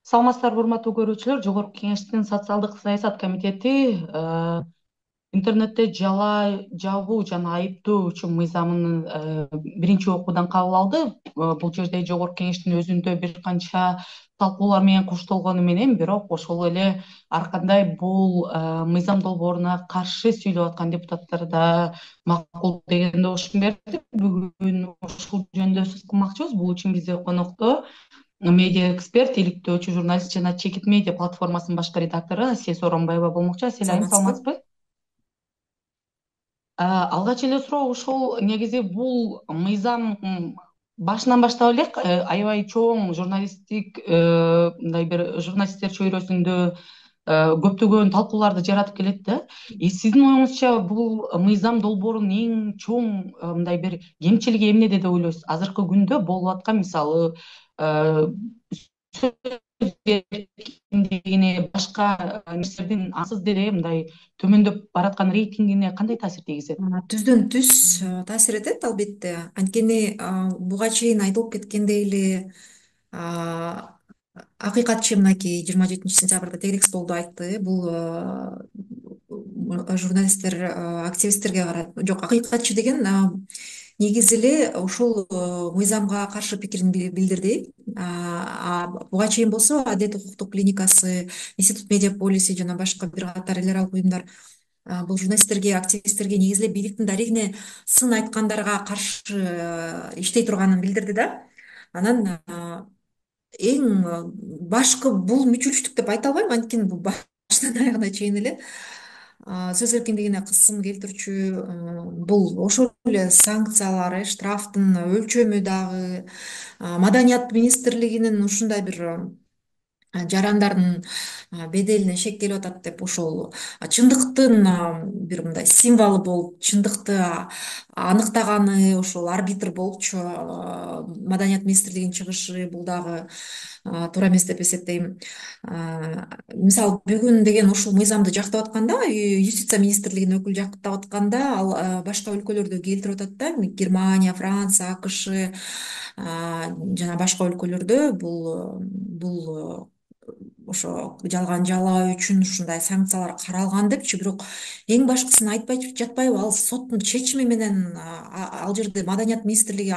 Саламатсыздарбы, урматтуу көрүүчүлөр. Жогорку Кеңештин социалдык саясат комитети интернетте жалаа жабуу жана айыптоо үчүн мыйзамын биринчи окуудан кабыл алды. Бул жерде Жогорку Кеңештин өзүндө бир канча талкуулар менен коштолгону менен, бирок ошол эле ар кандай бул мыйзам долбооруна каршы сүйлөп аткан депутаттар да макул деген добуш берди. Бүгүн ушул жөнүндө сөз кылмакчыбыз. Бул үчүн бизде конокто медиа эксперт, иликтөөчү журналист жана Чекит медиа платформасынын башкы редактору Асия Сооронбаева болмокчу. Асель айым, Саламатсызбы? саламатсызбы? Алгач эле суроо ушул. Негизи бул мыйзам башынан баштап элек аябай чоң журналисттик мындай бир журналисттер чөйрөсүндө көптөгөн талкууларды жаратып келет да. Сиздин оюңузча бул мыйзам долбоорунун эң чоң мындай бир кемчилиги эмнеде деп ойлойсуз? Азыркы күндө болуп аткан, мисалы, сөз эркиндигине, башка нерселердин ансыз деле мындай төмөндөп бараткан рейтингине кандай таасир тийгизет? Түздөн түз таасир этет албетте. Анткени буга чейин айтылып кеткендей эле акыйкатчы мынакей 27 сентябрда тегерек столдо айтты. Бул журналисттер активисттерге карап, жок, акыйкатчы деген негизи эле ушул мыйзамга каршы пикирин билдирди. Буга чейин болсо Адилет укуктук клиникасы, Институт Медиаполиси жана башка бир катар эл аралык уюмдар бул журналисттерге, активисттерге негизи эле бийликтин дарегине сын айткандарга каршы иштей турганын билдирди да. Анан эң башкы бул мүчүлүштүк деп айта албайм, анткени бул башынан аягына чейин эле сөз эркиндигине кысым келтирчү. Бул ошол эле санкциялары, штрафтын өлчөмү дагы Маданият министрлигинин ушундай бир жарандардын беделине шек келип атат деп, ошол чындыктын бир мындай символу болуп, чындыкты аныктаганы ошол арбитр болупчу Маданият министрлигинин чыгышы, бул дагы туура эмес деп эсептейм. Мисалы бүгүн деген ушул мыйзамды жактап атканда, юстиция министрлигинин өкүлү жактап атканда, ал башка өлкөлөрдү келтирип атат да. Германия, Франция, АКШ жана башка өлкөлөрдө бул ошо жалган жалаа үчүн ушундай санкциялар каралган депчи. Бирок эң башкысын айтпай жатпайбы, ал соттун чечими менен ал жерде Маданият министрлиги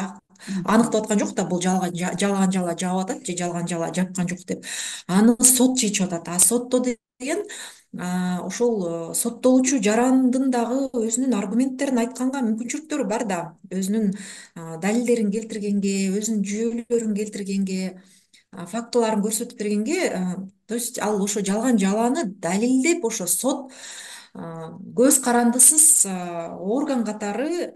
аныктап аткан жок да, бул жалган жалаа жаап атат же жалган жалаа жапкан жок деп. Аны сот чечип атат. Сотто деген ошол соттолуучу жарандын дагы өзүнүн аргументтерин айтканга мүмкүнчүлүктөрү бар да, өзүнүн далилдерин келтиргенге, өзүнүн жүйөлөрүн келтиргенге, фактыларын көрсөтүп бергенге, то есть ал ошо жалган жалааны далилдеп, ошо сот көз карандысыз орган катары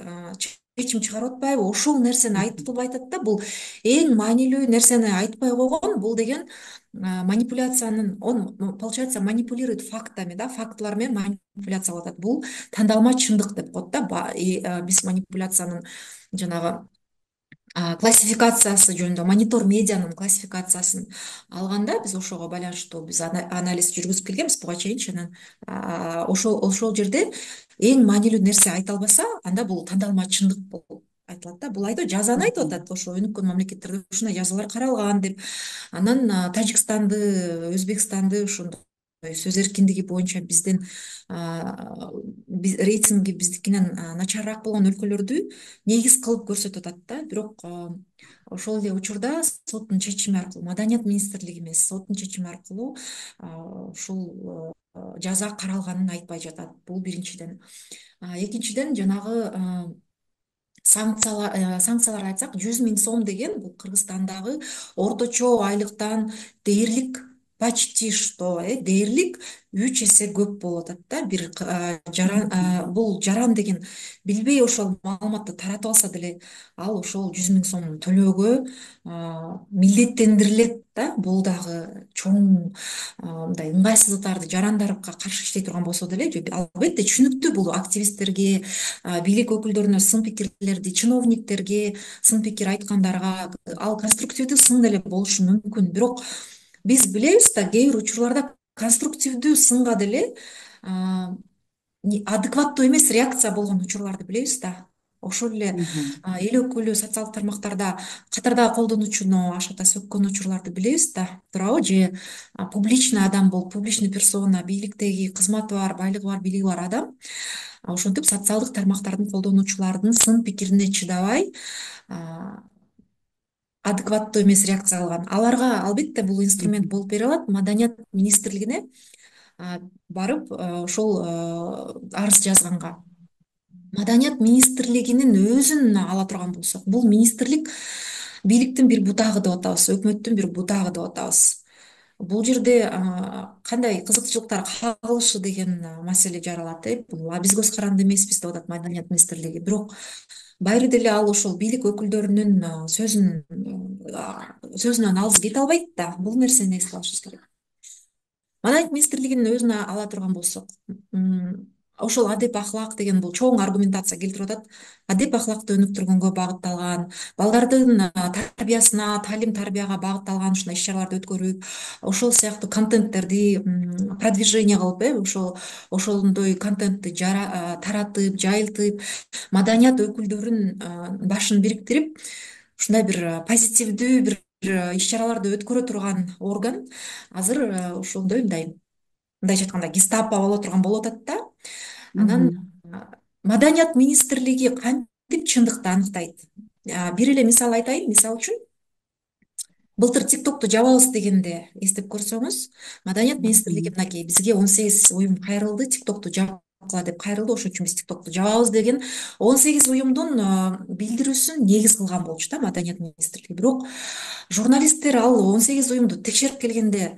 чечим чыгарып атпайбы, ошол нерсени айтып атат да. Бул эң маанилүү нерсени айтпай койгон. Бул деген манипуляциянын, он получается манипулирует фактами, да, фактылар менен манипуляция кылып атат. Бул тандалма чындык деп коет да. Биз манипуляциянын жанагы классификациясы жөнүндө, монитор медианын классификациясын алганда, биз ошого байланыштуу биз анализ жүргүзүп келгенбиз буга чейинчи. Анан ошол жерде эң маанилүү нерсе айта албаса, анда бул тандалма чындык болуп айтылат да. Бул жазаны айтып атат, ошо өнүккөн мамлекеттерде ушундай жазалар каралган деп. Анан Тажикстанды, Өзбекстанды ошондой сөз эркиндиги боюнча бизден рейтинги биздикинен начарыраак болгон өлкөлөрдү негиз кылып көрсөтүп атат да. Бирок ошол эле учурда соттун чечими аркылуу, Маданият министрлиги эмес, соттун чечими аркылуу ушул жаза каралганын айтпай жатат. Бул биринчиден. Экинчиден, жанагы санкциялар айтсак, 100 000 сом деген бул Кыргызстандагы орточо айлыктан дээрлик, почти что дээрлик 3 эсе көп болуп атат да. Бир бул жаран деген билбей ошол маалыматты таратып алса деле, ал ошол 100 000 сом төлөөгө милдеттендирилет да. Бул дагы чоң мындай ыңгайсыздыктарды, жарандарга каршы иштей турган болсо деле, албетте түшүнүктүү, бул активисттерге, бийлик өкүлдөрүнө сын пикирлерди, чиновниктерге сын пикир айткандарга ал конструктивдүү сын деле болушу мүмкүн. Бирок биз билебиз да, кээ бир учурларда конструктивдүү сынга деле адекваттуу эмес реакция болгон учурларды билебиз да. ошол эле Мгм. эл өкүлү социалдык тармактарда катардагы колдонуучуну ашата сөккөн учурларды билебиз да, туурабы? Же публичный адам болуп, публичный персона, бийликтеги кызматы бар, байлыгы бар, бийлиги бар адам ошентип социалдык тармактардын колдонуучулардын сын пикирине чыдабай адекваттуу эмес реакция кылган. Аларга албетте бул инструмент Мгм. болуп бере алат. Маданият министрлигине барып ошол арыз жазганга. Маданият министрлигинин өзүн ала турган болсок, бул министрлик бийликтин бир бутагы деп атабыз, өкмөттүн бир бутагы деп атабыз. Бул жерде кандай кызыкчылыктар кагылышы деген маселе жаралат. Бул биз көз каранды эмеспиз деп атат Маданият министрлиги. Бирок баары деле ал ошол бийлик өкүлдөрүнүн сөзүнөн алыс кете албайт да. Бул нерсени эске алышыбыз керек. Маданият министрлигинин өзүнө ала турган болсок, ошол адеп ахлак деген бул чоң аргументация келтирип атат. Адеп ахлакты өнүктүргөнгө багытталган, балдардын тарбиясына, талим тарбияга багытталган ушундай иш чараларды өткөрүп, ошол сыяктуу контенттерди продвижение кылып, ошондой контентти таратып, жайылтып, маданият өкүлдөрүн башын бириктирип, ушундай бир позитивдүү бир иш чараларды өткөрө турган орган азыр ошондой мындайча айтканда гестапо боло турган болуп атат да. Анан Мгм. маданият министрлиги кантип чындыкты аныктайт? Бир эле мисал айтайын. Мисал үчүн былтыр ТикТокту жабабыз дегенде эстеп көрсөңүз, Маданият министрлиги Мгм. мынакей бизге 18 уюм кайрылды, ТикТокту жабкыла деп кайрылды, ошон үчүн биз ТикТокту жабабыз деген 18 уюмдун билдирүүсүн негиз кылган болчу да Маданият министрлиги. Бирок журналисттер ал 18 уюмду текшерип келгенде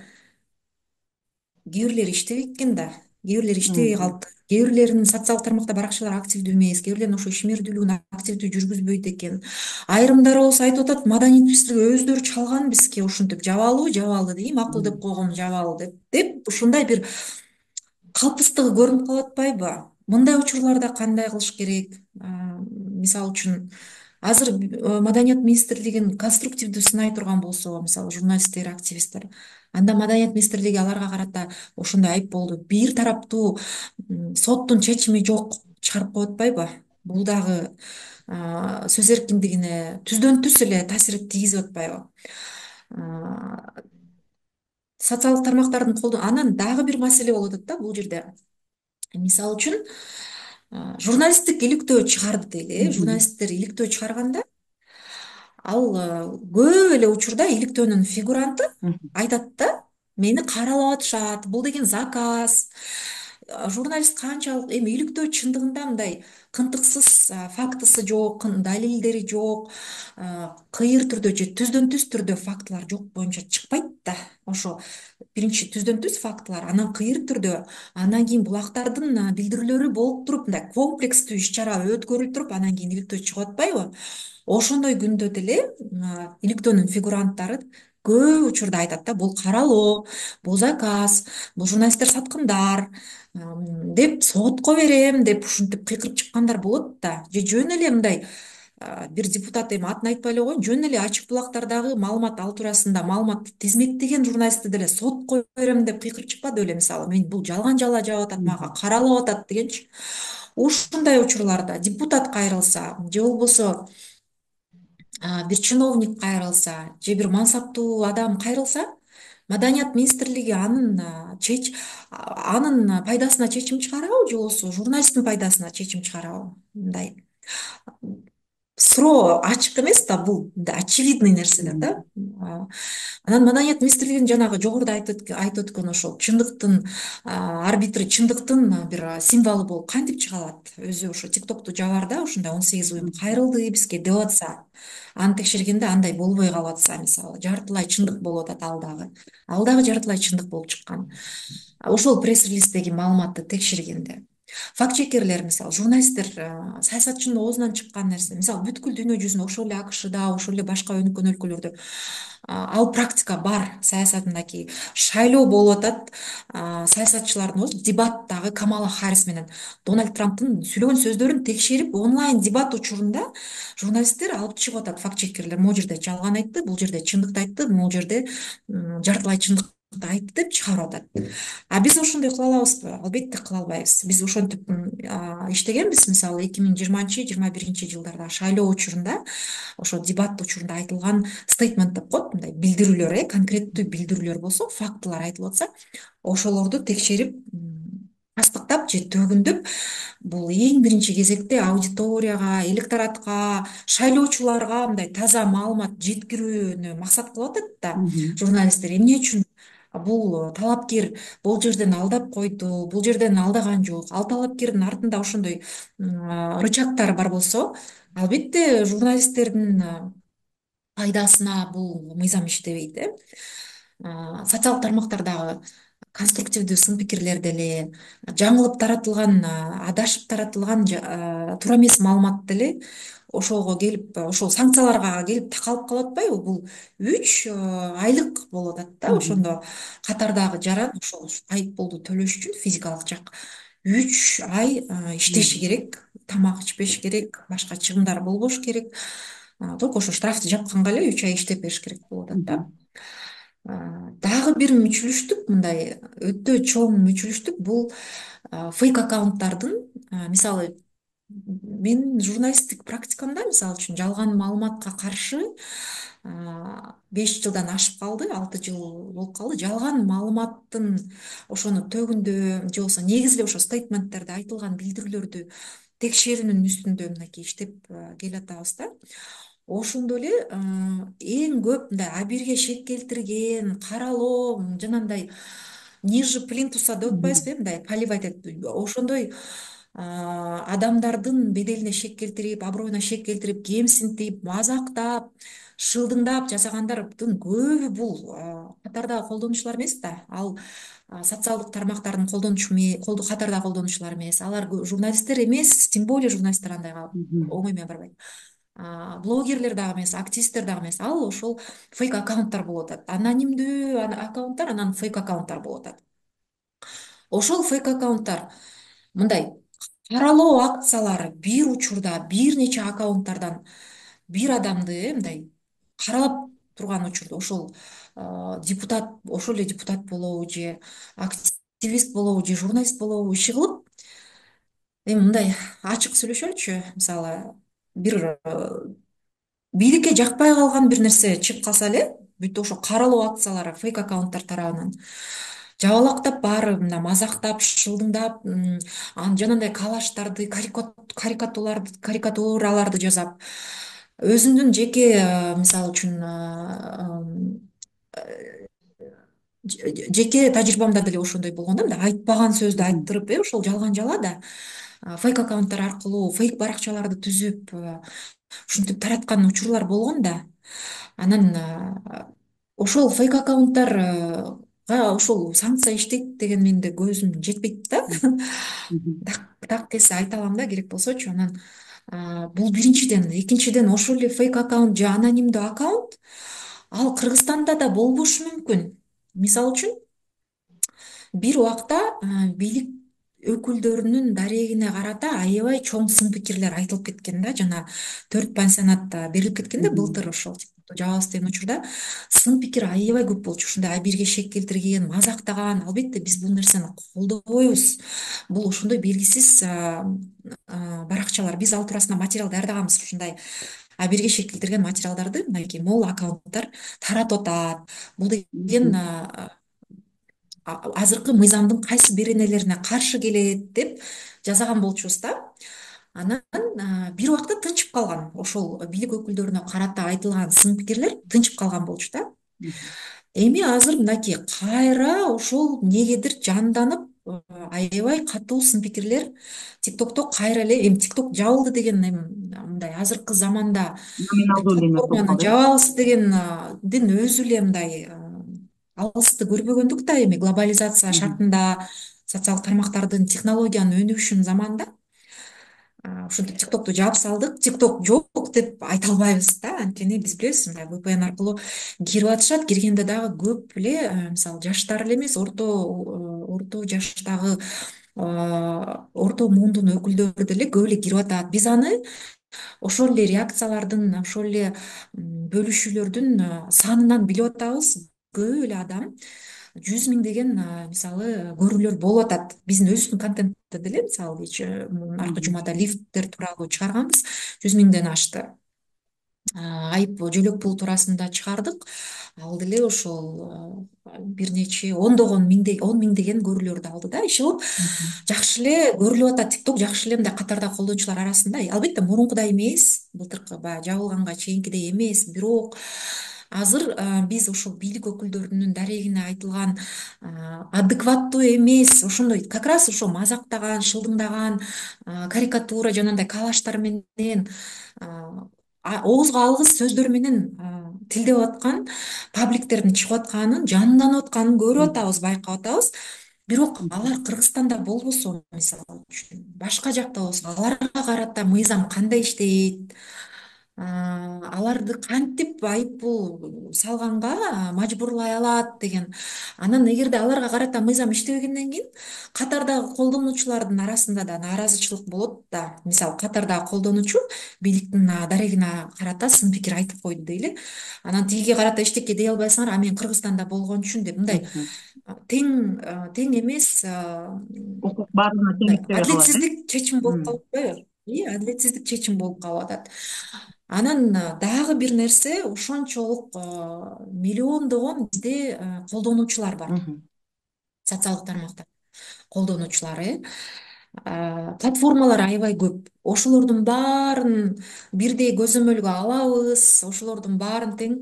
кээ бирлери иштебейт экен да, кээ бирлери иштебей Мгм. калды, кээ бирлеринин социалдык тармакта баракчалары активдүү эмес, кээ бирлеринин ошо ишмердүүлүгүн активдүү жүргүзбөйт экен. Айрымдары болсо айтып атат, маданият министрлиги өздөрү чалган бизге ушинтип жабалуу жабалы дейм, макул деп койгом жабалуу деп ушундай бир калпыстыгы көрүнүп калып атпайбы? Мындай учурларда кандай кылыш керек? Мисалы үчүн азыр Маданият министрлигин конструктивдүү сынай турган болсо, мисалы журналисттер, активисттер, анда Маданият министрлиги аларга карата ошондой айыпполду бир тараптуу соттун чечими жок чыгарып коюп атпайбы? Бул дагы сөз эркиндигине түздөн түз эле таасир тийгизип атпайбы? А, Социалдык тармактардын анан дагы бир маселе болуп атат да бул жерде. Мисалы үчүн журналисттик иликтөө чыгарды дейли. Мгм. Журналисттер иликтөө чыгарганда ал көп эле учурда иликтөөнүн фигуранты Мгм. айтат да, мени каралап атышат, бул деген заказ. Журналист канчалык эми иликтөө чындыгында мындай кынтыксыз, фактысы жок, далилдери жок, кыйыр түрдө же түздөн түз түрдө фактылар жок боюнча чыкпайт да. Ошо биринчи түздөн түз фактылар, анан кыйыр түрдө, анан кийин булактардын билдирүүлөрү болуп туруп, мындай комплекстүү иш чара өткөрүлүп туруп, анан кийин иликтөө чыгып атпайбы? Ошондой күндө деле иликтөөнүн фигуранттары көп учурда айтат да, бул каралоо, бул заказ, бул журналисттер саткындар деп сотко берем деп ушинтип кыйкырып чыккандар болот да. Же жөн эле мындай бир депутат, эми атын айтпай эле коеюн, жөн эле ачык булактардагы маалымат ал туурасында маалыматты тизмектеген журналистти деле сотко берем деп кыйкырып чыкпады беле, мисалы мен бул жалган жалаа жаап атат, мага Мгм. каралап атат дегенчи. Ушундай учурларда депутат кайрылса же болбосо бир чиновник кайрылса же бир мансаптуу адам кайрылса, Маданият министрлиги анын пайдасына чечим чыгарабы же болбосо журналисттин пайдасына чечим чыгарабы? Мындай суроо ачык эмес да, бул очевидный нерселер да. Мгм. Анан Маданият министрлигинин жанагы жогоруда айтып өткөн ошол чындыктын арбитри, чындыктын бир символу болуп кантип чыга алат? Өзү ошо ТикТокту жабарда ушундай 18 уюм Мгм. кайрылды бизге деп атса, аны текшергенде андай болбой калып атса, мисалы жартылай чындык болуп атат, ал дагы жартылай чындык болуп чыккан. Ошол пресс-релиздеги маалыматты текшергенде факт чекерлер, мисалы журналисттер, саясатчынын оозунан чыккан нерсе, мисалы бүткүл дүйнө жүзүндө, ошол эле АКШда, ошол эле башка өнүккөн өлкөлөрдө ал практика бар. Саясат мынакей шайлоо болуп атат, саясатчылардын өзү дебаттагы Камала Харрис менен Дональд Трамптын сүйлөгөн сөздөрүн текшерип, онлайн дебат учурунда журналисттер алып чыгып атат, факт чекерлер. Могул жерде жалган айтты, бул жерде чындыкты айтты, могул жерде жартылай чындык айтты деп чыгарып атат. А биз ошондой кыла алабызбы? Албетте кыла албайбыз. Биз ошентип иштегенбиз. Мисалы 2020-21 жылдарда шайлоо учурунда, ошо дебат учурунда айтылган стейтмент деп коет, мындай билдирүүлөр, конкреттүү билдирүүлөр болсо, фактылар айтылып атса, ошолорду текшерип, тастыктап же төгүндөп, бул эң биринчи кезекте аудиторияга, электоратка, шайлоочуларга мындай таза маалымат жеткирүүнү максат кылып атат да Мгм. журналисттер. Эмне үчүн бул талапкер бул жерден алдап койду, бул жерден алдаган жок, ал талапкердин артында ошондой рычагтар бар болсо, албетте журналисттердин пайдасына бул мыйзам иштебейт. Социалдык тармактардагы конструктивдүү сын пикирлер деле, жаңылып таратылган, адашып таратылган туура эмес маалымат деле ошого келип, ошол санкцияларга келип такалып калып атпайбы? Бул 3 айлык болуп атат да. Мгм. Ошондо катардагы жаран ошол айыппулду төлөш үчүн физикалык жак 3 ай иштеши Мгм. керек, тамак ичпеш керек, башка чыгымдар болбош керек. Только ошо штрафты жапканга эле 3 ай иштеп бериш керек болуп атат да. Мгм. Дагы бир мүчүлүштүк, мындай өтө чоң мүчүлүштүк, бул фейк аккаунттардын, мисалы, менин журналисттик практикамда, мисалы үчүн, жалган маалыматка каршы 5 жылдан ашып калды, 6 жыл болуп калды. Жалган маалыматтын ошону төгүндөө же болбосо негизи эле ошо стейтменттерде айтылган билдирүүлөрдү текшерүүнүн үстүндө мынакей иштеп келатабыз да. Ошондо эле эң көп мындай абийирге шек келтирген, каралоо, жанагындай ниже плинтуса деп Мгм. атпайбызбы, мындай поливать этип, ошондой адамдардын беделине шек келтирип, аброюна шек келтирип, кемсинтип, мазактап, шылдыңдап жасагандардын көбү бул катардагы колдонуучулар эмес да. Ал социалдык тармактардын катардагы колдонуучулар эмес. Алар журналисттер эмес, тем более журналисттер андайга Мгм. оңой менен барбайт. Блогерлер дагы эмес, активисттер дагы эмес. Ал ошол фейк аккаунттар болуп атат. Анонимдүү аккаунттар, анан фейк аккаунттар болуп атат. Ошол фейк аккаунттар мындай каралоо акциялары бир учурда бир нече аккаунттардан бир адамды мындай каралап турган учурда ошол депутат, ошол эле депутат болобу же активист болобу же журналист болобу иши кылып, эми мындай ачык сүйлөшөлүчү, мисалы, бир бийликке жакпай калган бир нерсе чыгып калса эле, бүт ошо каралоо акциялары фейк аккаунттар тарабынан жабалактап барып, мына мазактап, шылдыңдап, анан жанагындай калаштарды, карикатураларды жасап, өзүнүн жеке, мисалы үчүн, жеке тажрыйбамда деле ошондой болгон да, мындай айтпаган сөздү Мгм. айттырып, ошол жалган жала да фейк аккаунттар аркылуу фейк баракчаларды түзүп, ушинтип тараткан учурлар болгон да. Анан ошол фейк аккаунттарга ошол санкция иштейт деген менин көзүм жетпейт да. Мгм. Так келсе айта алам да, керек болсочу. Анан бул биринчиден. Экинчиден, ошол эле фейк аккаунт же анонимдүү аккаунт ал Кыргызстанда да болбошу мүмкүн. Мисалы үчүн, бир убакта бийлик өкүлдөрүнүн дарегине карата аябай чоң сын пикирлер айтылып кеткен да, жана 4 пансионат берилип кеткен да Мгм. былтыр, ошол жабабыз деген учурда сын пикир аябай көп болчу. Ушундай абийирге шек келтирген, мазактаган. Албетте биз бул нерсени колдобойбуз. Бул ошондой белгисиз баракчалар. Биз ал туурасында материал даярдаганбыз. Ушундай абийирге шек келтирген материалдарды мынакей могул аккаунттар таратып атат. Бул деген Мгм. азыркы мыйзамдын кайсы беренелерине каршы келет деп жасаган болчубуз да. Анан бир убакта тынчып калган. Ошол бийлик өкүлдөрүнө карата айтылган сын пикирлер тынчып калган болчу да. Мгм. Эми азыр мынакей кайра ошол эмнегедир жанданып, аябай катуу сын пикирлер ТикТокто кайра эле, эми ТикТок жабылды деген, эми мындай азыркы заманда бир Номиналдуу эле эме болуп платформаны калды, жабабыз дегендин өзү эле мындай алысты көрбөгөндүк да. Эми глобализация э. шартында, социалдык тармактардын, технологиянын өнүгүшүнүн заманында ушинтип ТикТокту жаап салдык. ТикТок жок деп айта албайбыз да, анткени биз билебиз, мындай VPN аркылуу кирип атышат. Киргенде дагы көп эле, мисалы, жаштар эле эмес, орто жаштагы, орто муундун өкүлдөрү деле көп эле кирип атат. Биз аны ошол эле реакциялардын, ошол эле бөлүшүүлөрдүн санынан билип атабыз. Көп эле адам 100 миңдеген мисалы көрүүлөр болуп атат биздин өзүбүздүн контентте деле. Мисалы аркы Мгм. жумада лифттер тууралуу чыгарганбыз, 100 миңден ашты. Айып жөлөк пул туурасында чыгардык, ал деле ошол бир нече он миңдеген көрүүлөрдү алды да. Иши кылып Мгм. жакшы эле көрүлүп атат, тикток жакшы эле мындай катардагы колдонуучулар арасында. Албетте мурункудай эмес, былтыркы баягы жабылганга чейинкидей эмес, бирок азыр биз ошол бийлик өкүлдөрүнүн дарегине айтылган адекваттуу эмес, ошондой как раз ошо мазактаган, шылдыңдаган, карикатура жанагындай коллаждар менен, оозго алгыс сөздөр менен тилдеп аткан пабликтердин чыгып атканын, жанданып атканын көрүп Мгм. атабыз, байкап атабыз. Бирок Мгм. алар Кыргызстанда болбосо, мисалы үчүн башка жакта болсо, аларга карата мыйзам кандай иштейт, аларды кантип айып пул салганга мажбурлай алат деген. Анан эгерде аларга карата мыйзам иштебегенден кийин катардагы колдонуучулардын арасында да нааразычылык болот да. Мисалы катардагы колдонуучу бийликтин дарегине карата сын пикир айтып койду дейли. Анан тигиге карата эчтеке дей албайсыңар, а мен Кыргызстанда болгон үчүн деп мындай Мгм. тең эмес, Укук баарына тең мындай иштебей калат, э? адилетсиздик чечим болуп Мгм. калып атпайбы? Адилетсиздик чечим болуп калып атат. Анан дагы бир нерсе, ошончолук миллиондогон бизде колдонуучулар бар, Мгм. социалдык тармакта колдонуучулар. Платформалар аябай көп. Ошолордун баарын бирдей көзөмөлгө алабыз, ошолордун баарын тең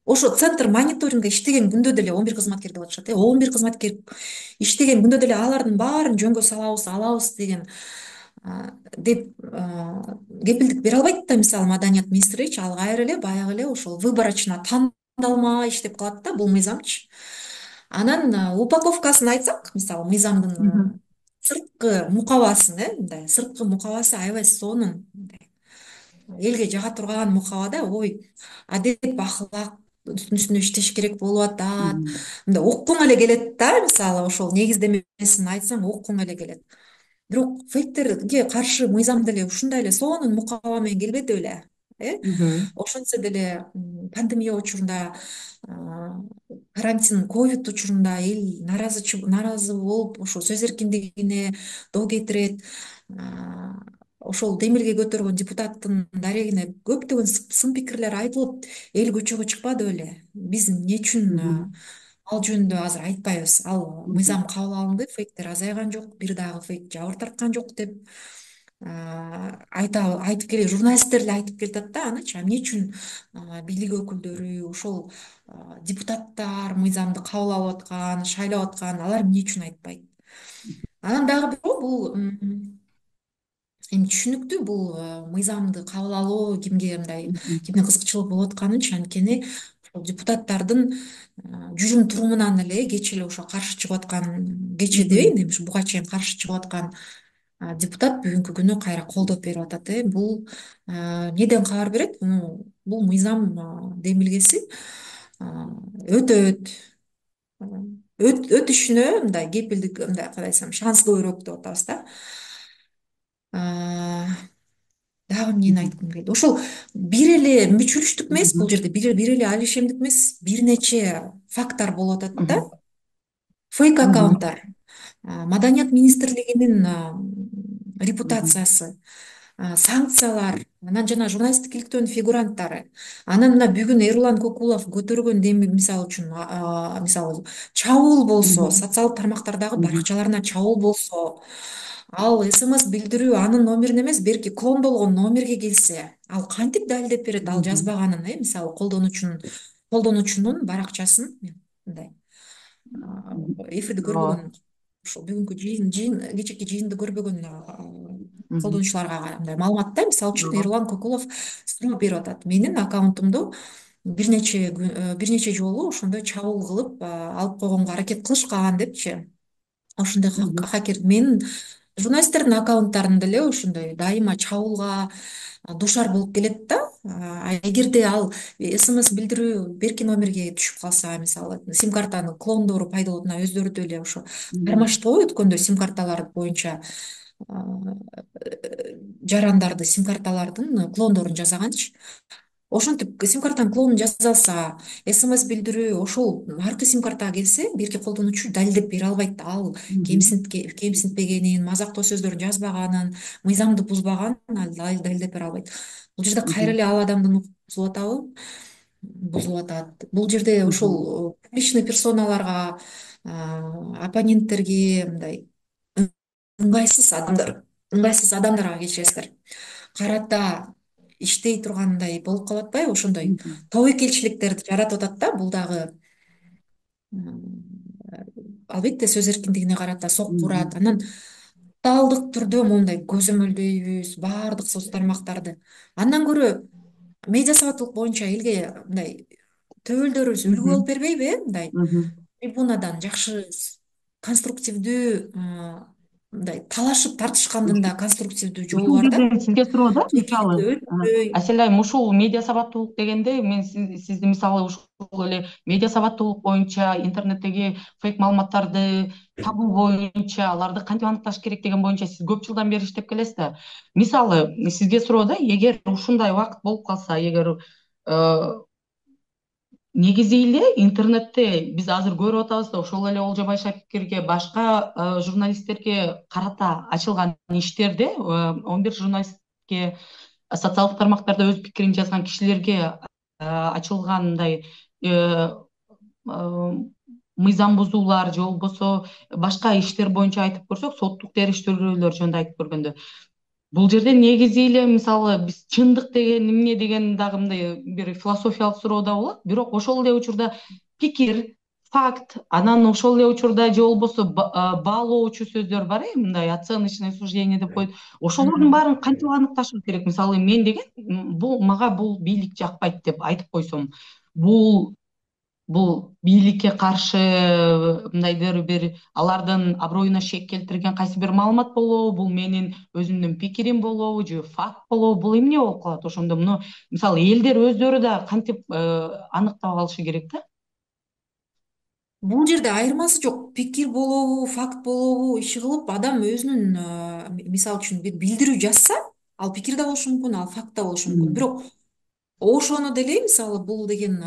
ошо центр мониторинга иштеген күндө деле 11 кызматкер деп атышат. 11 кызматкер иштеген күндө деле алардын баарын жөнгө салабыз, алабыз деген деп кепилдик бере албайт да. Мисалы маданият министричи ал кайра эле баягы эле ошол выборочно тандалма иштеп калат да бул мыйзамчы. Анан упаковкасын айтсак, мисалы мыйзамдын Мгм. сырткы мукабасын, мындай сырткы мукабасы аябай сонун, мындай элге жага турган мукаба да. Ой, адеп ахлактын үстүнө иштеш керек болуп атат. Мгм. Мындай уккуң эле келет да. Мисалы ошол негиздемесин айтсаң уккуң эле келет. Бирок фейктерге каршы мыйзам деле ушундай эле сонун мукаба менен келбеди беле? Мгм. Ошентсе деле пандемия учурунда, карантин, ковид учурунда эл нааразы болуп, ошо сөз эркиндигине доо кетирет. Ошол демилге көтөргөн депутаттын дарегине көптөгөн сын пикирлер айтылып, эл көчөгө чыкпады беле? Биз эмне үчүн Мгм. ал жөнүндө азыр айтпайбыз? Ал Мгм. мыйзам кабыл алынды, фейктер азайган жок, бир дагы фейк жабыр тарткан жок деп айтып келе, журналисттер эле айтып келатат да. Анычы эмне үчүн бийлик өкүлдөрү, ошол депутаттар мыйзамды кабыл алып аткан, шайлап аткан, алар эмне үчүн айтпайт? Анан дагы бирөө бул эми түшүнүктүү, бул мыйзамды кабыл алуу Мгм. кимге кызыкчылык болуп атканычы. Анткени ошол депутаттардын жүрүм турумунан эле кечээ эле ошо каршы чыгып аткан, кечээ Мгм. дебейин, эми ушу буга чейин каршы чыгып аткан депутат бүгүнкү күнү кайра колдоп берип атат. Бул эмнеден кабар берет? Бул мыйзам демилгеси өтөт, өтүшүнө мындай кепилдик, мындай кандай десем, шанс көбүрөөк деп атабыз да. А, Дагы эмнени Мгм. айткым келди? Ошол бир эле мүчүлүштүк эмес, Мгм. бул жерде бир эле алишемдик эмес, бир нече фактор болуп атат да. Мгм. Фейк Мгм. аккаунттар, Маданият министрлигинин Мгм. репутациясы, санкциялар, анан жана журналисттик иликтөөнүн фигуранттары. Анан мына бүгүн Эрлан Кокулов көтөргөн деми, мисалы үчүн, мисалы чабуул болсо, Мгм. социалдык тармактардагы Мгм. баракчаларына чабуул болсо, ал СМС билдирүү анын номерине эмес, берки клондолгон номерге келсе, ал кантип далилдеп берет ал Мгм. жазбаганын? Мисалы колдонуучунун баракчасын мындай эфирди Ооба. көрбөгөн, ошол бүгүнкү кечээки жыйынды көрбөгөн Мгм. колдонуучуларга мындай маалымат да. Мисалы үчүн Ооба. Эрлан Кокулов суроо берип атат: менин аккаунтумду бир нече жолу ошондой чабуул кылып алып койгонго аракет кылышкан депчи. Ошондой Мгм. хакер менин журналисттердин аккаунттарын деле ошондой дайыма чабуулга дуушар болуп келет да. Эгерде ал СМС билдирүү берки номерге түшүп калса, мисалы сим картанын клондору пайда болот, мына өздөрү деле ошо Мгм. кармашты го өткөндө сим карталар боюнча жарандарды, сим карталардын клондорун жасаганчы. ошентип сим картанын клонун жаса алса, СМС билдирүү ошол аркы сим картага келсе, бирки колдонуучу далилдеп бере албайт ал Мгм. кемсинтпегенин, мазактоо сөздөрдүн жазбаганын, мыйзамды бузбаганын ал далилдеп бере албайт. Бул жерде кайра Мгм. эле ал адамдын укугун бузулуп атабы? Бузулуп атат. Бул жерде Мгм. ошол публичный персоналарга, оппоненттерге мындай ыңгайсыз адамдар, ыңгайсыз адамдарга кечиресиздер, карата иштей тургандай болуп калып атпайбы? Ошондой Мгм. тобокелчиликтерди жаратып атат да, бул дагы албетте сөз эркиндигине карата сокку урат. Мгм. Анан тоталдык түрдө моундай көзөмөлдөйбүз баардык соц тармактарды. Андан көрө медиа сабаттуулук боюнча элге мындай төбөлдөрүбүз үлгү болуп Мгм. бербейби, трибунадан Мгм. жакшы конструктивдүү, мындай талашып тартышкандын да конструктивдүү жолу Ушул бар да. жерде сизге суроо да, мисалы, Жекеликке өтпөй. Асель айым, ушул медиа сабаттуулук дегенде мен сизди мисалы ушул эле медиа сабаттуулук боюнча интернеттеги фейк маалыматтарды табуу боюнча аларды кантип аныкташ керек деген боюнча сиз көп жылдан бери иштеп келесиз да. Мисалы, сизге суроо да, эгер ушундай убакыт болуп калса, эгер негизи эле интернетте биз азыр көрүп атабыз да, ошол эле Олжобай Шакирге, башка журналисттерге карата ачылган иштерде 11 журналистке социалдык тармактарда өз пикирин жазган кишилерге ачылган мындай э, э, мыйзам бузуулар же болбосо башка иштер боюнча айтып көрсөк, соттук териштирүүлөр жөнүндө айтып көргөндө, бул жерде негизи эле мисалы биз чындык деген эмне деген дагы мындай бир философиялык суроо да болот. Бирок ошол эле учурда пикир, факт, анан ошол эле учурда же болбосо баалоочу сөздөр бар, мындай оценочное суждение деп коет. Ошолордун Мгм. баарын кантип аныкташыбыз керек? Мисалы мен деген бул мага бул бийлик жакпайт деп айтып койсом, бул бул бийликке каршы мындайдыр бир алардын аброюна шек келтирген кайсы бир маалымат болобу, бул менин өзүмдүн пикирим болобу же факт болобу, бул эмне болуп калат ошондо? Муну мисалы элдер өздөрү да кантип аныктап алышы керек да? Бул жерде айырмасы жок. Пикир болобу, факт болобу, иши кылып адам өзүнүн, мисалы үчүн бир билдирүү жазса, ал пикир да болушу мүмкүн, ал факт да болушу мүмкүн. Мгм. Бирок ошону деле мисалы бул деген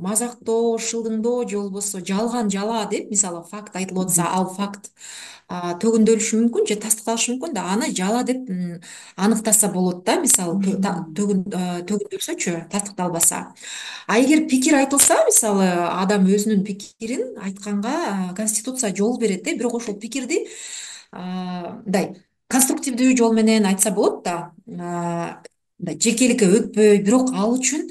мазактоо, шылдыңдоо же болбосо жалган жала деп мисалы факт айтылып атса, Мгм. ал факт төгүндөлүшү мүмкүн же тастыкталышы мүмкүн да, аны жала деп аныктаса болот да, мисалы Мгм. төгүндөлсөчү, тастыкталбаса. А эгер пикир айтылса, мисалы адам өзүнүн пикирин айтканга Конституция жол берет бирок ошол пикирди мындай конструктивдүү жол менен айтса болот да, мындай жекеликке өтпөй, бирок ал үчүн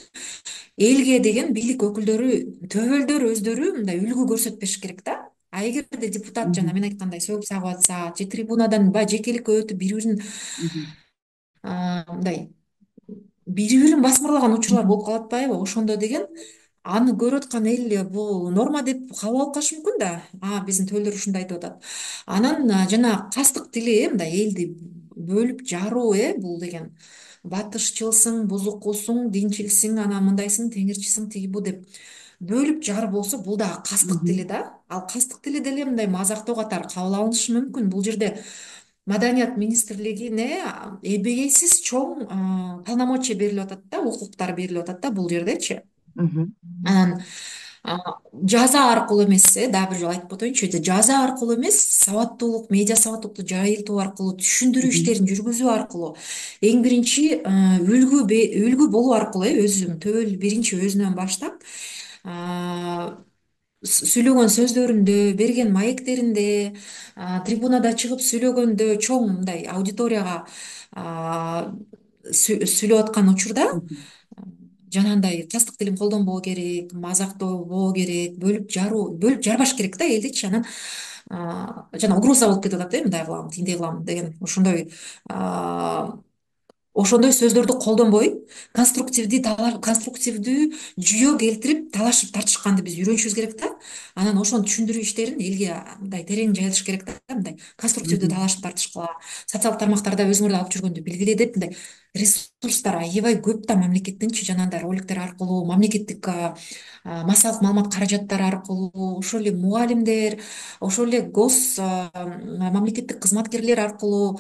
элге деген бийлик өкүлдөрү, төбөлдөр өздөрү мындай үлгү көрсөтпеш керек да. А эгерде депутат жана мен Мгм. айткандай сөгүп сагып атса же трибунадан баягы жекеликке өтүп бири бирин Мгм. мындай бири бирин басмырлаган учурлар Мгм. болуп калып атпайбы? Ошондо деген аны көрүп аткан эл бул норма деп кабыл алып калышы мүмкүн да. Биздин төлдөр ушундай айтып атат. Анан жана кастык тили, мындай элди бөлүп жаруу, бул деген батышчылсың, бузукусуң, динчилсиң, анан мындайсың, теңирчисиң, тиги бу деп бөлүп жарып болсо, бул дагы кастык тили Мгм. да. Ал кастык тили деле мындай мазактоо катары кабыл алынышы мүмкүн. Бул жерде Маданият министрлигине эбегейсиз чоң полномочия берилип атат да, укуктар берилип атат да бул жердечи. Мгм. Анан жаза аркылуу эмес, дагы бир жолу айтып өтөйүнчү, жаза аркылуу эмес, сабаттуулук, медиа сабаттуулукту жайылтуу аркылуу, түшүндүрүү Мгм. иштерин жүргүзүү аркылуу, эң биринчи үлгү болуу аркылуу, өзүм төбөл биринчи өзүнөн баштап сүйлөгөн сөздөрүндө, берген маектеринде, трибунада чыгып сүйлөгөндө, чоң мындай аудиторияга сүйлөп аткан учурда Мгм. жанагындай кастык тилин колдонбоо керек, мазактабоо керек, бөлүп жарбаш керек да элдичи. Анан жана угроза болуп кетип атат, мындай кылам, тигиндей кылам деген ошондой сөздөрдү колдонбой, конструктивдүү жүйө келтирип талашып тартышканды биз үйрөнүшүбүз керек да. Анан ошону түшүндүрүү иштерин элге мындай терең жайылыш керек да, мындай конструктивдүү Мгм. талашып тартышкыла, социалдык тармактарда өзүңөр да алып жүргөндү белгиле деп мындай ресурстар аябай көп да мамлекеттинчи, жанагындай роликтер аркылуу, мамлекеттик массалык маалымат каражаттары аркылуу, ошол эле мугалимдер, ошол эле мамлекеттик кызматкерлер аркылуу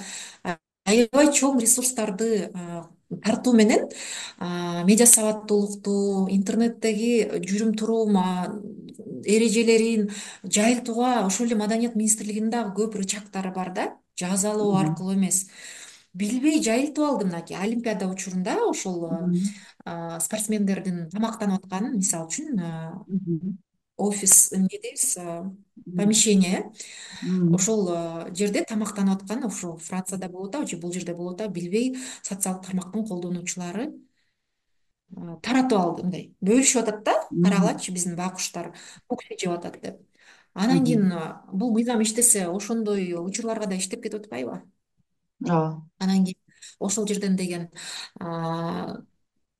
аябай чоң ресурстарды тартуу менен медиа сабаттуулукту, интернеттеги жүрүм турум эрежелерин жайылтууга ошол эле Маданият министрлигинин дагы көп рычагдары бар да, жазалоо Мгм. аркылуу эмес. Билбей жайылтып алды мынакей Олимпиада учурунда ошол Мгм. спортсмендердин тамактанып атканын, мисалы үчүн, Мгм. офис эмне дейбиз, Мгм. помещение, Мгм. ошол жерде тамактанып аткан, ошо Францияда болуп атабы же бул жерде болуп атабы билбей социалдык тармактын колдонуучулары таратып алды, мындай бөлүшүп атат да, Мгм. карагылачы биздин байкуштар кукси жеп атат деп. Анан Мгм. кийин бул мыйзам иштесе ошондой учурларга да иштеп кетип атпайбы? Ооба. Анан кийин ошол жерден деген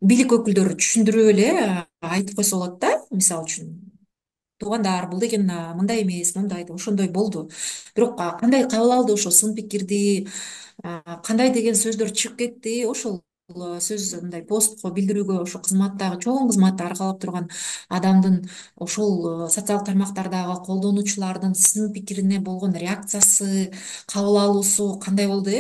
бийлик өкүлдөрү түшүндүрүп эле айтып койсо болот да, мисалы үчүн туугандар, бул деген мындай эмес, мындай деп ошондой болду. Бирок кандай кабыл алды ошо сын пикирди, кандай деген сөздөр чыгып кетти, ошол сөз мындай постко билдирүүгө ошо кызматтагы чоң кызматты аркалап турган адамдын ошол социалдык тармактардагы колдонуучулардын сын пикирине болгон реакциясы, кабыл алуусу кандай болду,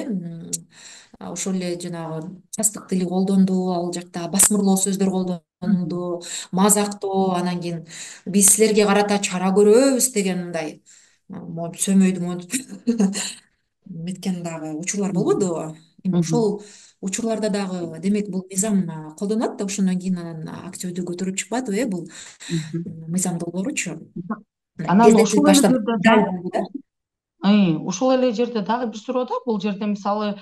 ошол эле жанагы састык тили колдонду, ал жакта басмырлоо сөздөр Мгм. колдонулду, мазактоо, анан кийин биз силерге карата чара көрөбүз деген мындай монтип сөмөйдү монтип меткен дагы учурлар Мгм. болбодубу? Эми Мгм. ошол учурларда дагы демек бул мыйзам колдонулат да, ошондон кийин анан активдүү көтөрүлүп чыкпадыбы бул Мгм. мыйзам долбооручу? Мындай Анан тездетилип ошол эле баштап жерде жай болду да. ушул эле жерде дагы бир суроо да, бул жерде мисалы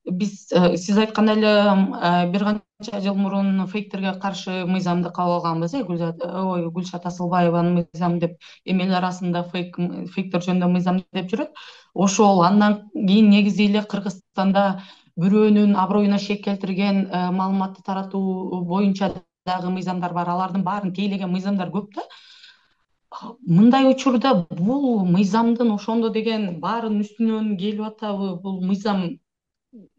биз сиз айткандай эле бир канча жыл мурун фейктерге каршы мыйзамды кабыл алганбыз, Гүлшат Асылбаеванын мыйзамы деп, эми эл арасында фейктер жөнүндө мыйзам деп жүрөт. Ошол андан кийин негизи эле Кыргызстанда бирөөнүн аброюна шек келтирген маалыматты таратуу боюнча дагы мыйзамдар бар. Алардын баарын тейлеген мыйзамдар көп да. Мындай учурда бул мыйзамдын ошондо деген баарынын үстүнөн келип атабы? Бул мыйзам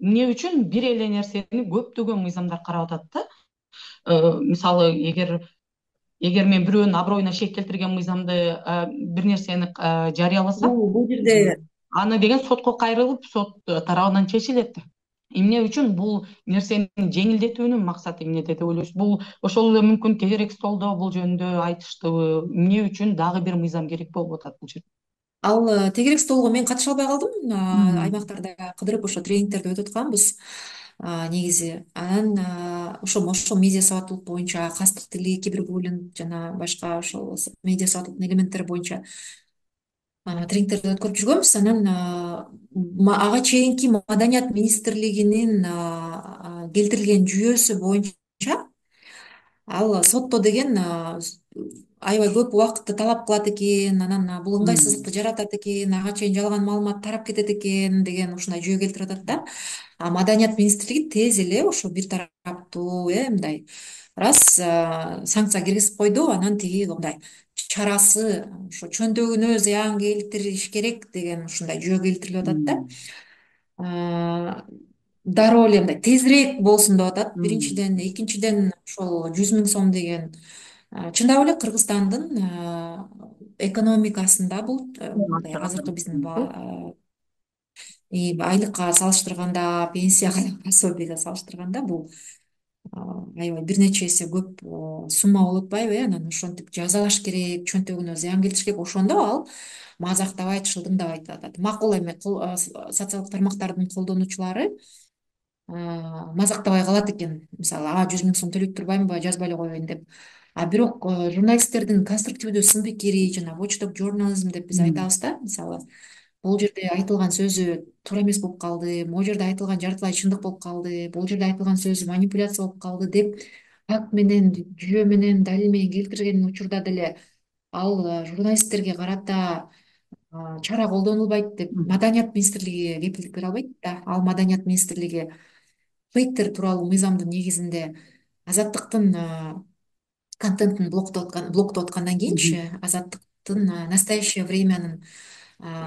эмне үчүн бир эле нерсени көптөгөн мыйзамдар карап атат да? Мисалы, эгер мен бирөөнүн аброюна шек келтирген мыйзамды, бир нерсени жарыяласам, Бул жерде аны деген сотко кайрылып, сот тарабынан чечилет. Эмне үчүн бул нерсени жеңилдетүүнүн максаты эмнеде деп ойлойсуз? Бул ошол эле мүмкүн тегерек столдо бул жөнүндө айтыштыбы? Эмне үчүн дагы бир мыйзам керек болуп атат бул жерде? ал тегерек столго мен катыша албай калдым. Мгм. Аймактарда кыдырып ошо тренингтерди өтүп атканбыз негизи. Анан ошо медиа сабаттуулук боюнча, кастык тили, кибербуллинг жана башка ошол медиа сабаттуулуктун элементтери боюнча тренингтерди өткөрүп жүргөнбүз. Анан ага чейинки Маданият министрлигинин келтирилген жүйөсү боюнча ал сотто деген аябай көп убакытты талап кылат экен, анан бул Мгм. ыңгайсыздыкты жаратат экен, ага чейин жалган маалымат тарап кетет экен деген ушундай жүйө келтирип атат да. Маданият министрлиги тез эле ошо бир тараптуу мындай раз санкция киргизип койду, анан тиги мындай чарасы ошо чөнтөгүнө зыян келтириш керек деген ушундай жүйө келтирилип атат да. Мгм. Дароо эле мындай тезирээк болсун деп атат Мгм. биринчиден, экинчиден ошол 100.000 сом деген чындап эле Кыргызстандын экономикасында бул мындай азыркы биздин айлыкка салыштырганда, пенсияга, пособияга салыштырганда бул аябай бир нече эсе көп сумма болуп атпайбы? Анан ошентип жазалаш керек, чөнтөгүнө зыян келтириш керек. Ошондо ал мазактабайт, шылдыңдабайт деп атат. Макул эми социалдык тармактардын колдонуучулары мазактабай калат экен. Мисалы, 100.000 сом төлөйт турбаймынбы, жазбай эле коеюн деп. Бирок журналисттердин конструктивдүү сын пикири жана watchdog журнализм деп биз Мгм. айтабыз да. Мисалы, бул жерде айтылган сөзү туура эмес болуп калды, могу жерде айтылган жартылай чындык болуп калды, бул жерде айтылган сөз манипуляция болуп калды деп факт менен, жүйө менен, далил менен келтирген учурда деле ал журналисттерге карата чара колдонулбайт деп Мгм. Маданият министрлиги кепилдик бере албайт да. Ал Маданият министрлиги фейктер тууралуу мыйзамдын негизинде Азаттыктын контентин блоктоп аткандан Мгм. кийинчи Азаттыктын настоящее времянын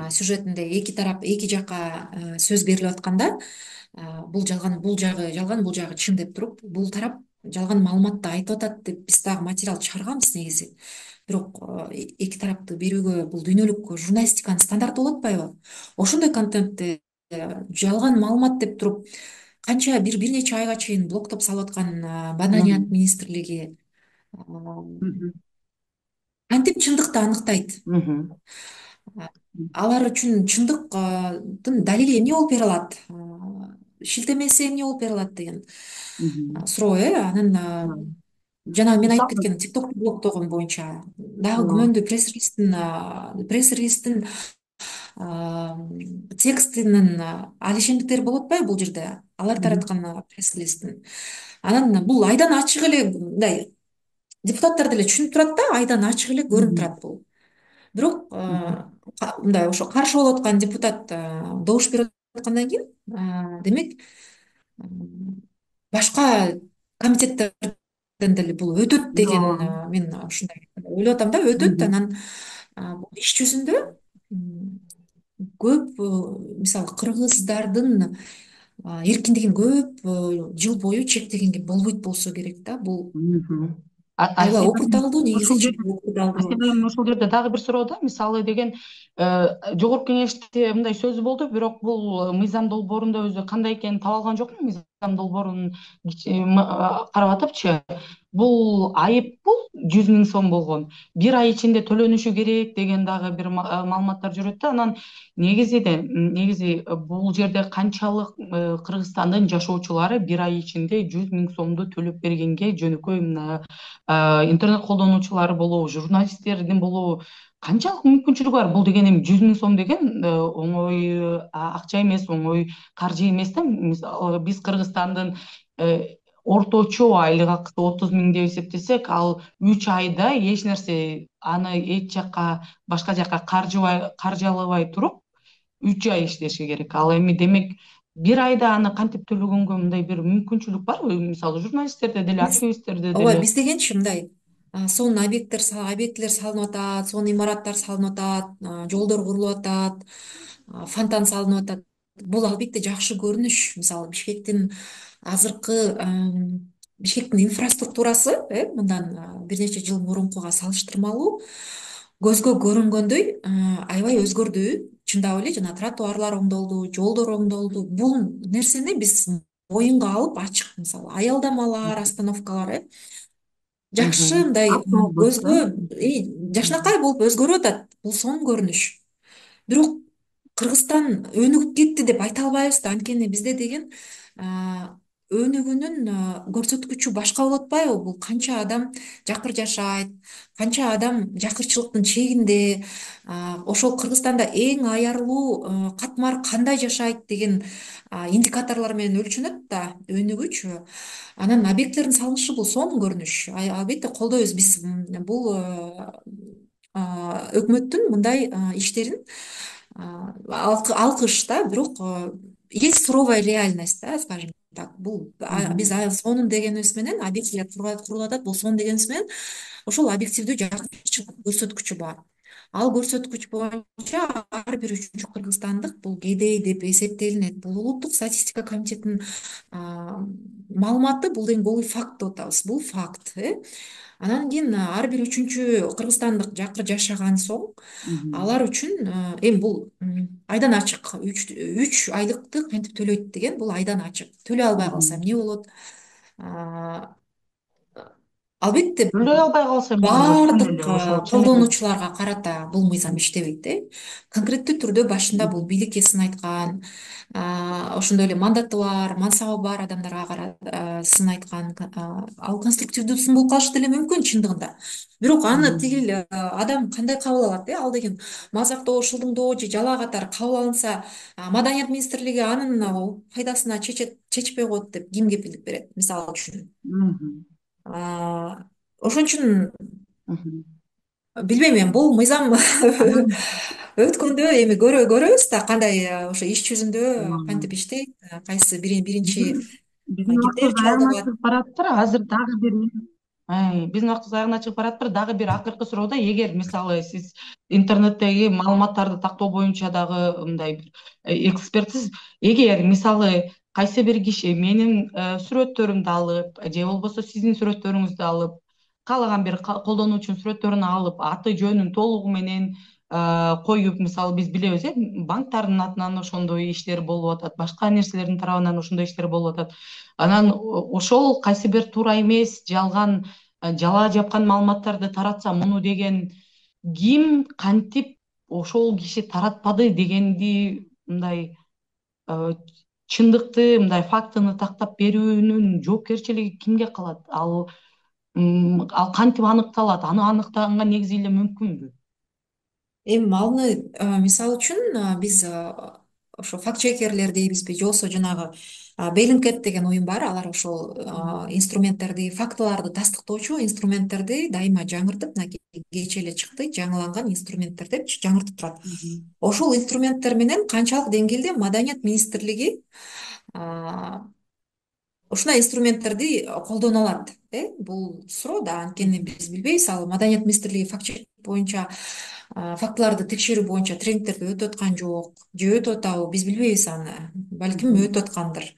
сюжетинде эки жакка сөз берилип атканда бул жалган, бул жагы жалган, бул жагы чын деп туруп, бул тарап жалган маалыматты айтып атат деп биз дагы материал чыгарганбыз негизи. Бирок эки тарапты берүүгө бул дүйнөлүк журналистиканын стандарты болуп атпайбы? Ошондой контентти жалган маалымат деп туруп канча бир нече айга чейин блоктоп салып аткан Маданият Мгм. министрлиги Мгм. кантип чындыкты аныктайт? Мгм. Алар үчүн чындыктын далили эмне болуп бере алат? Шилтемеси эмне болуп бере алат деген Мгм. суроо, анан Мгм. жана мен айтып Мисалы. кеткен TikTok блоктогон боюнча дагы Ооба. күмөндүү пресс релиздин текстинин алишендиктери болуп атпайбы бул жерде, алар Мгм. тараткан пресс-релиздин. Анан бул айдан ачык эле мындай депутаттар деле түшүнүп турат да, айдан ачык эле көрүнүп Мгм. турат бул. Бирок Мгм. мындай ошо каршы болуп аткан депутат добуш берип аткандан кийин демек башка комитеттерден деле бул өтөт деген Ооба. мен ушундай ойлоп атам да, өтөт. Мгм. Анан бул иш жүзүндө м, көп мисалы кыргыздардын эркиндигин көп жыл бою чектегенге болбойт болсо керек да. Бул Мгм. аябай Себеби опурталдуу, негизи ушул чын жерде опурталдуу. себебим ушул жерде дагы бир суроо да, мисалы деген жогорку кеңеште мындай сөз болду, бирок бул мыйзам долбоорунда өзү кандай экенин таба алган жокмун, мыйзам долбоорун карап атыпчы. Бул айып бул 100 000 сом болгон. Бир ай ичинде төлөнүшү керек деген дагы бир маалыматтар жүрөт да. Анан негизи бул жерде канчалык Кыргызстандын жашоочулары бир ай ичинде 100 000 сомду төлөп бергенге жөнөкөй мына интернет колдонуучулар болобу, журналисттердин болобу канчалык мүмкүнчүлүгү бар? Бул деген эми 100 000 сом деген оңой акча эмес, оңой каржы эмес да. Мисалы биз Кыргызстандын орточо айлык акысы 30 000 деп эсептесек, ал 3 айда эч нерсе аны эч жакка башка жакка каржылабай туруп 3 ай иштеши керек. Ал эми демек бир айда аны кантип төлөгөнгө мындай бир мүмкүнчүлүк барбы? Мисалы журналисттерде деле, Биз активисттерде ооба, деле. биз дегенчи мындай сонун объекттер салынып атат, сонун имараттар салынып атат, жолдор курулуп атат, фонтан салынып атат. Бул албетте жакшы көрүнүш. Мисалы Бишкектин инфраструктурасы мындан бир нече жыл мурункуга салыштырмалуу көзгө көрүнгөндөй аябай өзгөрдү. Чындап эле жана тротуарлар оңдолду, жолдор оңдолду. Бул нерсени биз моюнга алып ачык, мисалы аялдамалар, остановкалар жакшы Мгм. мындай Автобус, көзгө Мгм. жакшынакай болуп өзгөрүп атат. Бул сонун көрүнүш. Бирок Кыргызстан өнүгүп кетти деп айта албайбыз да, анткени бизде деген өнүгүүнүн көрсөткүчү башка болуп атпайбы? Бул канча адам жакыр жашайт, канча адам жакырчылыктын чегинде, ошол Кыргызстанда эң аярлуу катмар кандай жашайт деген индикаторлор менен өлчөнөт да өнүгүүчү. Анан объекттердин салынышы бул сонун көрүнүш. Албетте колдойбуз биз бул өкмөттүн мындай иштерин алкыш да. Бирок есть суровая реальность, да, скажем так. Бул биз Мгм. сонун дегенибиз менен, объектилер курулуп атат, бул сонун дегенибиз менен ошол объективдүү жакырчылык көрсөткүчү бар. Ал көрсөткүч боюнча ар бир үчүнчү кыргызстандык бул кедей деп эсептелинет. Бул улуттук статистика комитетинин маалыматы. Бул факт деп атабыз. Бул факт. Анан кийин ар бир үчүнчү кыргызстандык жакыр жашаган соң Мгм. алар үчүн эми бул айдан ачык. 3 айлыкты кантип төлөйт деген бул айдан ачык. Төлөй албай калса Мгм. эмне болот? А, Албетте Төлөй албай калса эми бул чын баардык эле ошол чын эле. колдонуучуларга карата бул мыйзам иштебейт. Конкреттүү түрдө башында бул Мгм. бийликке сын айткан, ошондой эле мандаты бар, мансабы бар адамдарга сын айткан, ал конструктивдүү сын болуп калышы деле мүмкүн чындыгында. Бирок аны тиги Мгм. эле адам кандай кабыл алат? Ал деген мазактоо, шылдыңдоо же жалаа катары кабыл алынса, Маданият министрлиги анын пайдасына чечпей коет деп ким кепилдик берет, мисалы үчүн? Мгм. Ошон үчүн Мгм. билбейм, эми бул мыйзам Анан өткөндө эми көрөбүз да кандай ошо иш жүзүндө м, кантип иштейт, кайсы биринчи биздин биздин кимдер убактыбыз жолдоп аягына алат. чыгып баратыптыр. Азыр дагы бир биздин убактыбыз аягына чыгып баратыптыр. Дагы бир акыркы суроо да, эгер мисалы сиз интернеттеги маалыматтарды тактоо боюнча дагы мындай бир экспертсиз, эгер мисалы кайсы бир киши менин сүрөттөрүмдү алып же болбосо сиздин сүрөттөрүңүздү алып, каалаган бир колдонуучунун сүрөттөрүн алып, аты жөнүн толугу менен коюп, мисалы биз билебиз банктардын атынан ошондой иштер болуп атат, башка нерселердин тарабынан ошондой иштер болуп атат. Анан ошол кайсы бир туура эмес, жалган, жалаа жапкан маалыматтарды таратса, муну деген ким, кантип ошол киши таратпады дегенди мындай чындыкты, мындай фактыны тактап берүүнүн жоопкерчилиги кимге калат? Ал кантип аныкталат? Аны аныктаганга негизи эле мүмкүнбү? Эми маны мисалы үчүн биз ошо факт чекерлер дейбизби же болбосо жанагы Bellingcat деген уюм бар. Алар ошол инструменттерди, фактыларды тастыктоочу инструменттерди дайыма жаңыртып, мынакей кечээ эле чыкты, жаңыланган инструменттер деп жаңыртып турат. Ошол инструменттер менен канчалык деңгээлде Маданият министрлиги ушундай инструменттерди колдоно алат? Бул суроо да, анткени биз билбейбиз. Ал Маданият министрлиги факт чек боюнча фактыларды текшерүү боюнча тренингтерди өтүп аткан жок же өтүп атабы, биз билбейбиз аны. Балким өтүп аткандыр.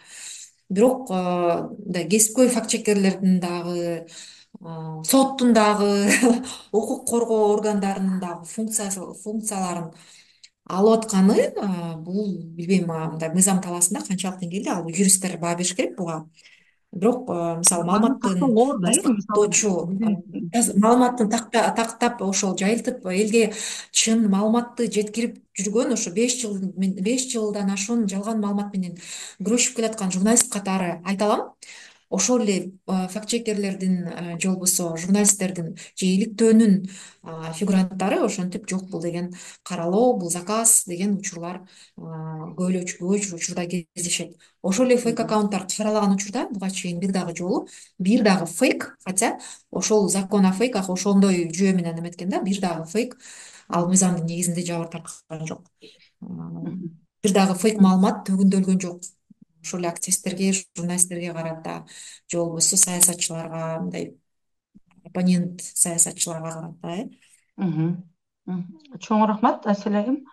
Бирок мындай кесипкөй факт чекерлердин дагы, соттун дагы, укук коргоо органдарынын дагы функцияларын алып атканы, бул билбейм, мындай мыйзам талаасында канчалык деңгээлде, ал юристтер баа бериш керек буга. Бирок мисалы Аны маалыматтын тактоого оор да, мисалы тастыктоочу, маалыматтын тактап ошол жайылтып элге чын маалыматты жеткирип жүргөн, ошо 5 жылдан ашуун жалган маалымат менен күрөшүп келаткан журналист катары айта алам. Ошол эле факт чекерлердин же болбосо журналисттердин же иликтөөнүн фигуранттары ошентип жок бул деген каралоо, бул заказ деген учурлар көп учурда кездешет. Ошол эле фейк аккаунттар каралаган учурда буга чейин бир дагы жолу бир дагы фейк, хотя ошол закон о фейках ошондой жүйө менен эметкен да, бир дагы фейк ал мыйзамдын негизинде жабыр тарткан жок. Бир дагы фейк маалымат төгүндөлгөн жок. Ошол эле активисттерге, журналисттерге карата же болбосо саясатчыларга, мындай оппонент саясатчыларга карата. Чоң рахмат, Асель айым.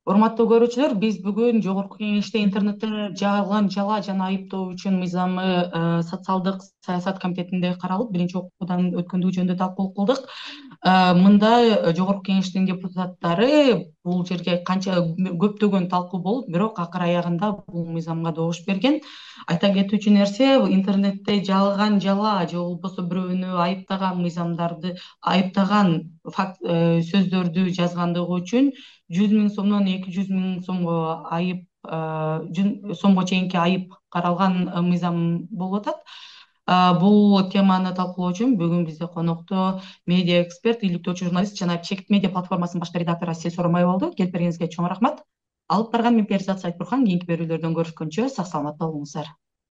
Урматтуу көрүүчүлөр, биз бүгүн Жогорку Кеңеште интернетте жалган, жалаа жана айыптоо үчүн мыйзамы социалдык саясат комитетинде каралып, биринчи окуудан өткөндүгү жөнүндө талкуу кылдык. Мында Жогорку Кеңештин депутаттары бул жерге канча көптөгөн талкуу болуп, бирок акыр аягында бул мыйзамга добуш берген. Айта кетүүчү нерсе, интернетте жалган, жалаа же болбосо бирөөнү айыптаган мыйзамдарды, айыптаган факт сөздөрдү жазгандыгы үчүн 100.000 сомдон 200.000 сомго айып, сомго чейинки айып каралган мыйзам болуп атат. Бул теманы талкуулоо үчүн бүгүн бизде конокто медиа эксперт, иликтөөчү журналист жана Чекит медиа платформасынын башкы редактору Асель Соромай болду. Келип бергениңизге чоң рахмат. Алып барган мен Перизат Сайтбурхан. Кийинки берүүлөрдөн көрүшкөнчө сак саламатта болуңуздар.